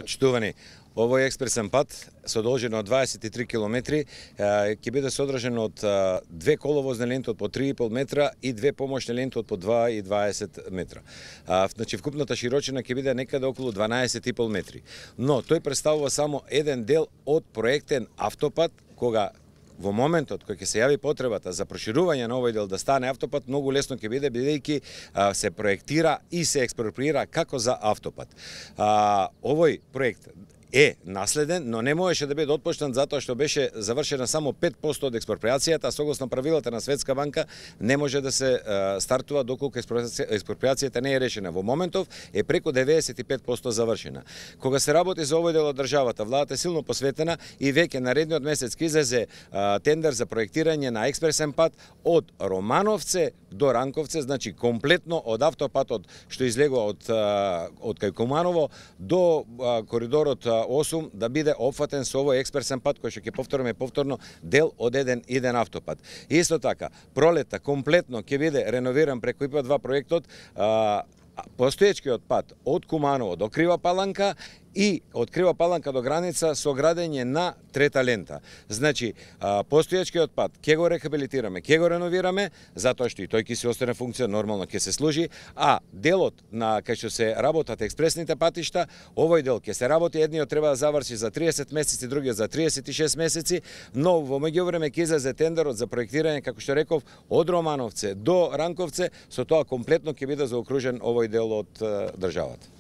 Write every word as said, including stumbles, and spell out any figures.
Почитувани, овој експресен пат со должина од дваесет и три километри ќе биде содржен од две коловозни ленти од по три и пол метра и две помошни ленти од по два и дваесет метра. Значи вкупната широчина ќе биде некаде околу дванаесет и пол метри. Но тој представува само еден дел од проектен автопат, кога во моментот кој ќе се јави потребата за проширување на овој дел да стане автопат, многу лесно ќе биде бидејќи се проектира и се експроприира како за автопат. А, овој проект е наследен, но не можеше да биде отпуштен затоа што беше завршена само пет проценти од експроприацијата, а согласно правилата на Светска банка не може да се а, стартува доколку експроприацијата не е решена. Во моментов е преку деветдесет и пет проценти завршена. Кога се работи за овој дел од државата, владата е силно посветена и веќе наредниот месец ќе излезе а, тендер за проектирање на експресен пат од Романовце до Ранковце, значи комплетно од автопатот што излегува од а, од кај Куманово до а, коридорот осум да биде опфатен со овој експресен пат кој што ќе повториме повторно дел од еден иден автопат. Исто така, пролета комплетно ќе биде реновиран преку ИПА два проектот, а, постоечкиот пат од Куманово до Крива Паланка и од Крива Паланка до граница со градење на трета лента. Значи, постоечкиот пат ќе го рехабилитираме, ќе го реновираме, затоа што и тој ќе се остане функција, нормално ќе се служи, а делот на кај што се работат експресните патишта, овој дел ќе се работи, едниот треба да заврши за триесет месеци, другиот за триесет и шест месеци, но во меѓувреме ќе излезе тендерот за проектирање, како што реков, од Романовце до Ранковце, со тоа комплетно ќе биде заокружен овој дел од државата.